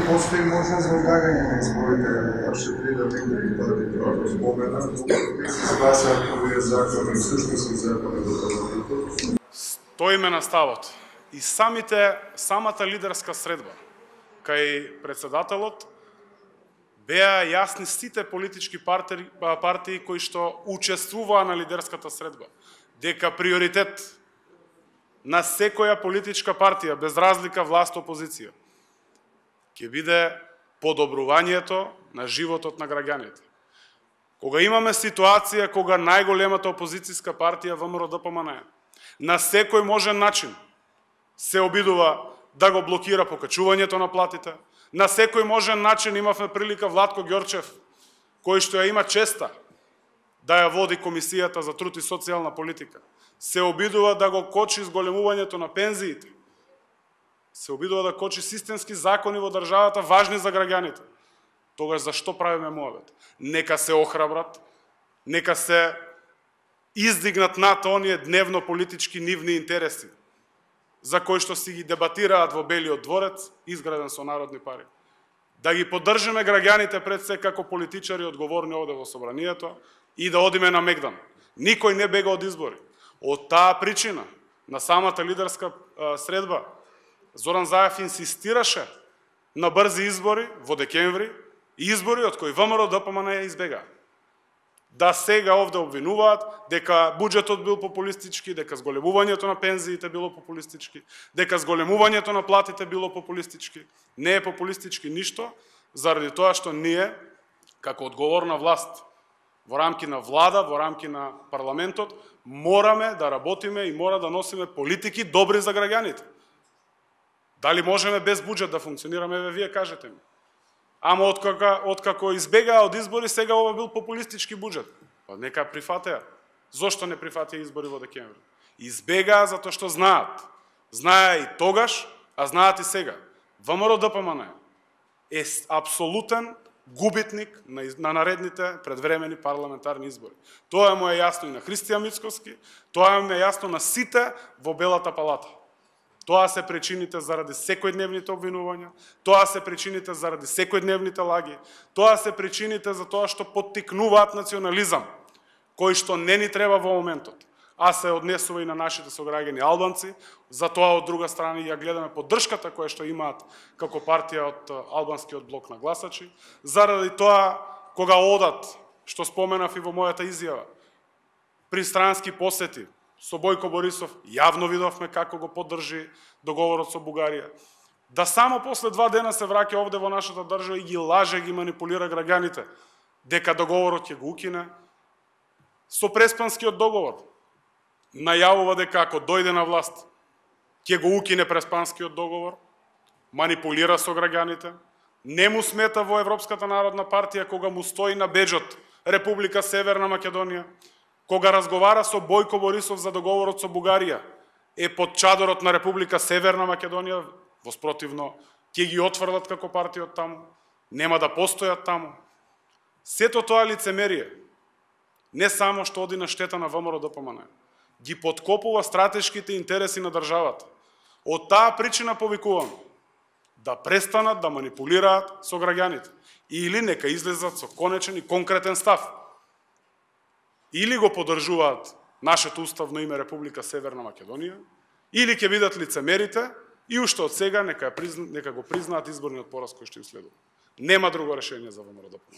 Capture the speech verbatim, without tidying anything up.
Постои можност за одлагање на изборите, ваше придатни депутати тоа го спомена, кои се спасаат овие закони, всушност и закони до парламентот? Стоиме на ставот. И самите, самата лидерска средба, кај председателот, беа јасни сите политички партии, партии кои што учествуваа на лидерската средба, дека приоритет на секоја политичка партија, без разлика власт-опозиција, ќе биде подобрувањето на животот на граѓаните. Кога имаме ситуација кога најголемата опозицијска партија ВМРО-ДПМН на секој можен начин се обидува да го блокира покачувањето на платите, на секој можен начин имавме прилика Владко Ѓорчев, кој што ја има честа да ја води Комисијата за труд и социјална политика, се обидува да го кочи зголемувањето на пензиите, се обидува да кочи системски закони во државата важни за граѓаните. Тогаш зашто правиме муавет? Нека се охрабрат, нека се издигнат над оние дневно политички нивни интереси, за кои што си ги дебатираат во Белиот дворец, изграден со народни пари. Да ги поддржиме граѓаните пред се како политичари одговорни овде во собранието и да одиме на мегдан. Никој не бега од избори. Од таа причина, на самата лидерска средба, Зоран Заев инсистираше на брзи избори во декември, избори од кои ВМРО-ДПМН избега. Да сега овде обвинуваат дека буџетот бил популистички, дека зголемувањето на пензиите било популистички, дека зголемувањето на платите било популистички. Не е популистички ништо, заради тоа што ние, како одговорна власт, во рамки на влада, во рамки на парламентот, мораме да работиме и мора да носиме политики добри за граѓаните. Дали можеме без буџет да функционираме, еве вие кажете ми. Ама откако, откако избегаа од избори, сега ова бил популистички буџет. Па нека прифатеа. Зошто не прифатеа избори во декември? Избегаа затоа што знаат. Знаеа и тогаш, а знаат и сега. ВМРО-ДПМН е апсолутен губитник на, на наредните предвремени парламентарни избори. Тоа му е јасно и на Христијан Мицкоски, тоа му е јасно на сите во Белата палата. Тоа се причините заради секојдневните обвинувања, тоа се причините заради секојдневните лаги, тоа се причините за тоа што поттикнуваат национализам, кој што не ни треба во моментот, а се однесува и на нашите сограѓани албанци, затоа од друга страна ја гледаме поддршката која што имаат како партија од албанскиот блок на гласачи, заради тоа кога одат, што споменав и во мојата изјава, пристрански посети, со Бојко Борисов, јавно видовме како го поддржи договорот со Бугарија. Да само после два дена се враќа овде во нашата држава и ги лаже, ги манипулира граѓаните, дека договорот ќе го укине. Со Преспанскиот договор најавува дека ако дојде на власт, ќе го укине Преспанскиот договор, манипулира со граѓаните. Не му смета во Европската народна партија кога му стои на беџот Република Северна Македонија, кога разговара со Бојко Борисов за договорот со Бугарија, е под чадорот на Република Северна Македонија, воспротивно ќе ги отфрлат како партија од таму, нема да постојат таму. Сето тоа лицемерие, не само што оди на штета на ВМРО-ДПМН, ги подкопува стратешките интереси на државата. Од таа причина повикувам да престанат да манипулираат со граѓаните или нека излезат со конечен и конкретен став. Или го поддржуваат нашето уставно име Република Северна Македонија, или ќе бидат лицемерите и уште од сега нека, нека го признаат изборниот пораз кој што им следува. Нема друго решение за ВМРО-ДПМН.